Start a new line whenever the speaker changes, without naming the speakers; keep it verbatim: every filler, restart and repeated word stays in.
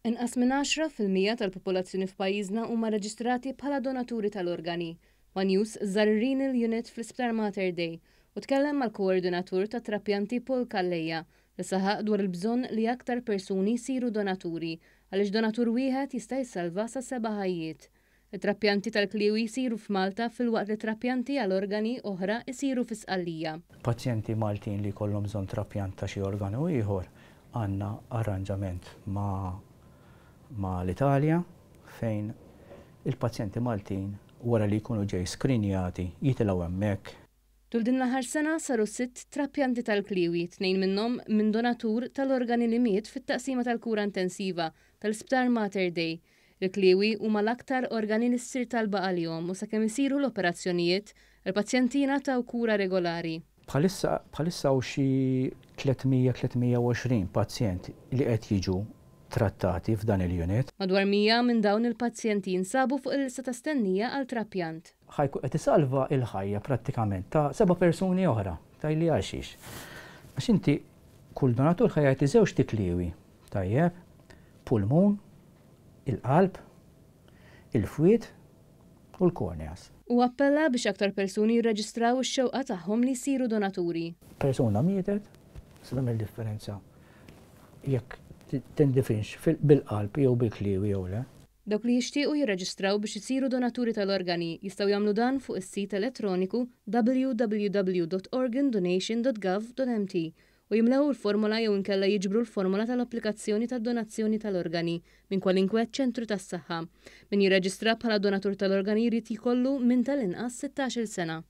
Inqas minn għaxra fil-mija tal-popolazzjoni f'pajjiżna huma reġistrati bħala donaturi tal-organi. One News żar ir-Renal Unit fl-Isptar Mater Dei u tkellem mal-koordinatur tat-trapjanti Paul Calleja, li saħaq dwar il-bżonn li aktar persuni jsiru donaturi, għaliex donatur wieħed jista' jsalva sa seba' ħajjiet. Il-trapjanti tal-kliewi jsiru f'Malta, filwaqt li trapjanti għal organi oħra jsiru fi Sqallija.
Pazjenti Maltin li jkollhom bżonn trapjant ta' xi organu ieħor, għandna arranġament ma' ma' l-Italja fejn il-pazjenti Maltin, wara li jkunu ġej skrinjati, jitilgħu hemmhekk.
Tul din l-aħħar sena saru sitt trapjanti tal-kliewi, tnejn minnhom minn donatur tal-organi li miet fit-taqsima tal-kura intensiva tal-Isptar Mater Dei. Il-kliewi huma l-aktar organi li ssir talba għalihom u sakemm isiru l-operazzjonijiet, il-pazjenti jingħataw kura regolari.
Bħalissa bħalissa hawn xi tliet mija tliet mija u għoxrin pazjent li qed jiġu trattati f'dan il-unit.
Madwar mija minn dawn il-pazjenti jinsabu fuq il-lista ta' stennija għal trapjant.
Ħa jkun qed isalva il-ħajja prattikament ta' seba' persuni oħra. Tgħidli għalxiex? Għax inti kull donatur ħa jagħti żewġt ikliwi. Tajjeb, pulmun, il-qalb, il-fwied u l-corneas.
U appella biex aktar persuni jirreġistraw ix-xewqa tagħhom li jsiru donaturi.
Persuna mietet, se tagħmel differenza jekk tindifinx bil-qalb jew bil-kliewi jew le?
Dawk li jixtiequ jirreġistraw biex isiru donaturi tal-organi jistgħu jagħmlu dan fuq is-sit elettroniku W W W dot organdonation dot gov dot M T u jimlew il-formola jew inkella jiġbru l-formola tal-applikazzjoni tad-donazzjoni tal-organi minn kwalinkwe ċentru tas-saħħa. Min jirreġistra bħala donatur tal-organi jrid jkollu minn tal-inqas sittax-il sena.